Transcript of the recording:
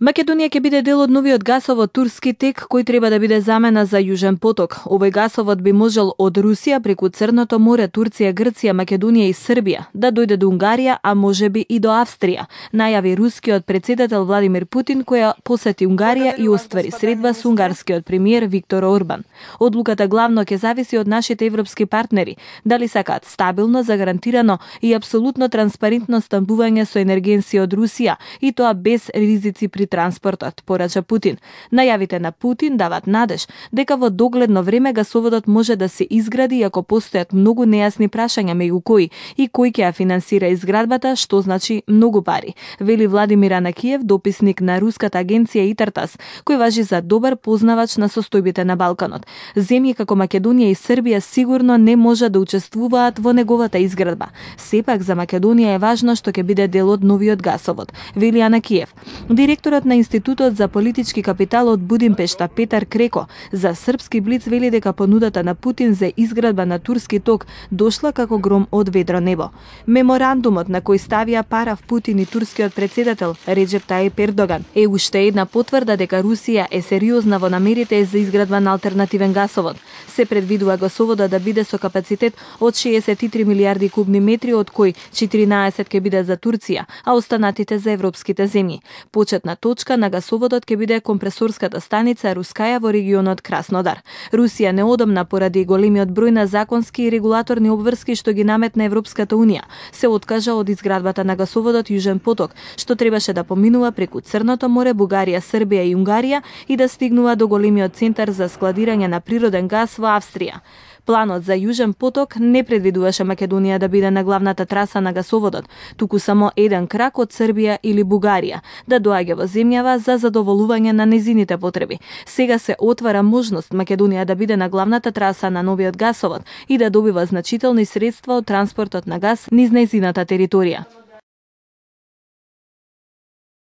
Македонија ќе биде дел од новиот гасовод турски тек кој треба да биде замена за Јужен поток. Овој гасовод би можел од Русија преку Црното море, Турција, Грција, Македонија и Србија да дојде до Унгарија, а можеби и до Австрија, најави рускиот претседател Владимир Путин, која посети Унгарија и оствари средба со унгарскиот премиер Виктор Орбан. Одлуката главно ќе зависи од нашите европски партнери, дали сакаат стабилно, загарантирано и апсолутно транспарентно снабдување со енергенси од Русија, и тоа без ризици при транспортот, порача Путин. Најавите на Путин дават надеж дека во догледно време гасоводот може да се изгради, иако постојат многу нејасни прашања меѓу кои и кој ќе ја финансира изградбата, што значи многу пари, вели Владимир Анакиев, дописник на руската агенција Итартас, кој важи за добар познавач на состојбите на Балканот. Земји како Македонија и Србија сигурно не може да учествуваат во неговата изградба. Сепак за Македонија е важно што ќе биде дел од новиот гасовод, вели Анакиев. Директорот на Институтот за политички капитал од Будимпешта Петар Креко за српски блиц вели дека понудата на Путин за изградба на турски ток дошла како гром од ведро небо. Меморандумот на кој ставија параф Путин и турскиот претседател Реджеп Тајип Ердоган е уште една потврда дека Русија е сериозна во намерите за изградба на алтернативен гасовод. Се предвидува гасоводот да биде со капацитет од 63 милиарди кубни метри, од кои 14 ќе биде за Турција, а останатите за европските земји. Почетна точка на гасоводот ќе биде компресорската станица Рускаја во регионот Краснодар. Русија неодамна поради големиот број на законски и регулаторни обврски што ги наметна Европската унија, се откажа од изградбата на гасоводот Јужен поток, што требаше да поминува преку Црното море, Бугарија, Србија и Унгарија и да стигнува до големиот центар за складирање на природен газ во Австрија. Планот за Јужен поток не предвидуваше Македонија да биде на главната траса на гасоводот, туку само еден крак од Србија или Бугарија да доаѓа во земјава за задоволување на незините потреби. Сега се отвара можност Македонија да биде на главната траса на новиот гасовод и да добива значителни средства од транспортот на газ низ нејзината територија.